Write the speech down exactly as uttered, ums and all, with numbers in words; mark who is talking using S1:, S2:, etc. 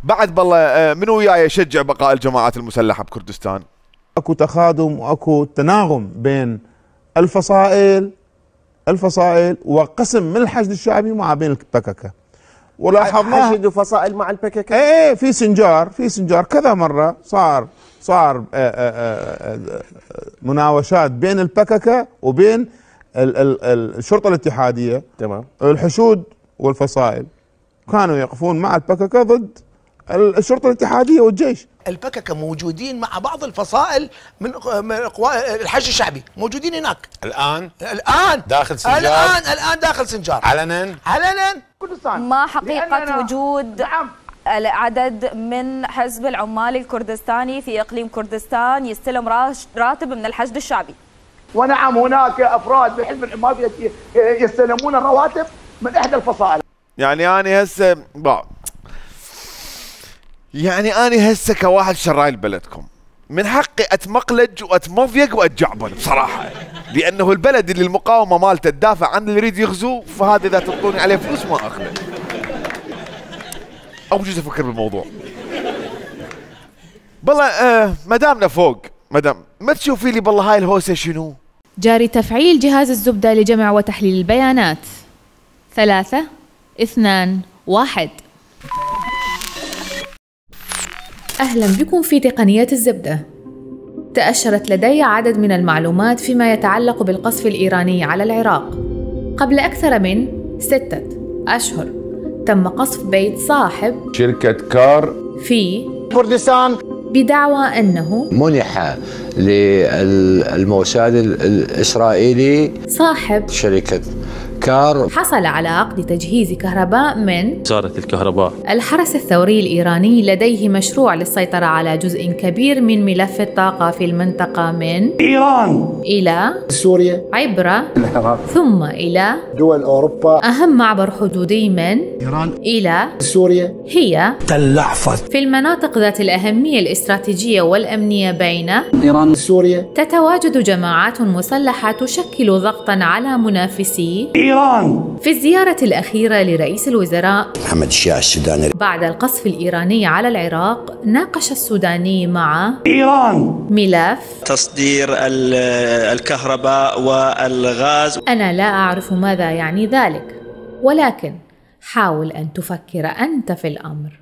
S1: بعد بالله من وياي يشجع بقاء الجماعات المسلحة بكردستان؟
S2: اكو تخاذم واكو تناغم بين الفصائل الفصائل وقسم من الحشد الشعبي مع بين البككة، ولاحظناها
S3: حشد وفصائل مع البككة.
S2: ايه في سنجار في سنجار كذا مرة صار صار مناوشات بين البككة وبين الشرطة الاتحادية.
S3: تمام.
S2: الحشود والفصائل كانوا يقفون مع البككة ضد الشرطة الاتحادية والجيش.
S4: البككة موجودين مع بعض الفصائل من قوى الحشد الشعبي، موجودين هناك
S5: الآن
S4: الآن
S5: داخل سنجار
S4: الآن الآن داخل سنجار
S5: علنا
S4: علنا.
S6: ما حقيقة وجود
S4: نعم.
S6: العدد من حزب العمال الكردستاني في إقليم كردستان يستلم راتب من الحشد الشعبي؟
S7: ونعم هناك أفراد بحزب العمال يستلمون الرواتب من إحدى الفصائل.
S1: يعني أنا هسه يعني أنا هسه كواحد شرايل بلدكم من حقي أتمقلج وأتمضيق وأتجعبن بصراحة، لأنه البلد اللي المقاومة مالته تدافع عن اللي يريد يغزو، فهذا إذا تعطوني عليه فلوس ما أخذه. أو بجوز أفكر بالموضوع. بالله آه مدامنا فوق، مدام ما تشوفي لي بالله هاي الهوسة شنو؟
S8: جاري تفعيل جهاز الزبدة لجمع وتحليل البيانات. ثلاثة اثنان واحد. أهلا بكم في تقنية الزبدة. تأشرت لدي عدد من المعلومات فيما يتعلق بالقصف الإيراني على العراق. قبل أكثر من ستة أشهر تم قصف بيت صاحب
S9: شركة كار
S8: في
S7: كردستان
S8: بدعوى أنه
S9: منح للموساد الإسرائيلي
S8: صاحب
S9: شركة كار
S8: حصل على عقد تجهيز كهرباء من
S10: وزارة الكهرباء.
S8: الحرس الثوري الإيراني لديه مشروع للسيطرة على جزء كبير من ملف الطاقة في المنطقة من
S7: إيران
S8: إلى
S7: سوريا
S8: عبر
S7: العراق
S8: ثم إلى
S7: دول أوروبا.
S8: أهم معبر حدودي من
S7: إيران
S8: إلى
S7: سوريا
S8: هي
S7: تل أحفظ.
S8: في المناطق ذات الأهمية الاستراتيجية والأمنية بين
S7: إيران سوريا.
S8: تتواجد جماعات مسلحة تشكل ضغطا على منافسي
S7: إيران.
S8: في الزيارة الأخيرة لرئيس الوزراء
S9: محمد الشيع السوداني
S8: بعد القصف الإيراني على العراق، ناقش السوداني مع
S7: إيران
S8: ملف
S10: تصدير الكهرباء والغاز.
S8: أنا لا أعرف ماذا يعني ذلك، ولكن حاول أن تفكر أنت في الأمر.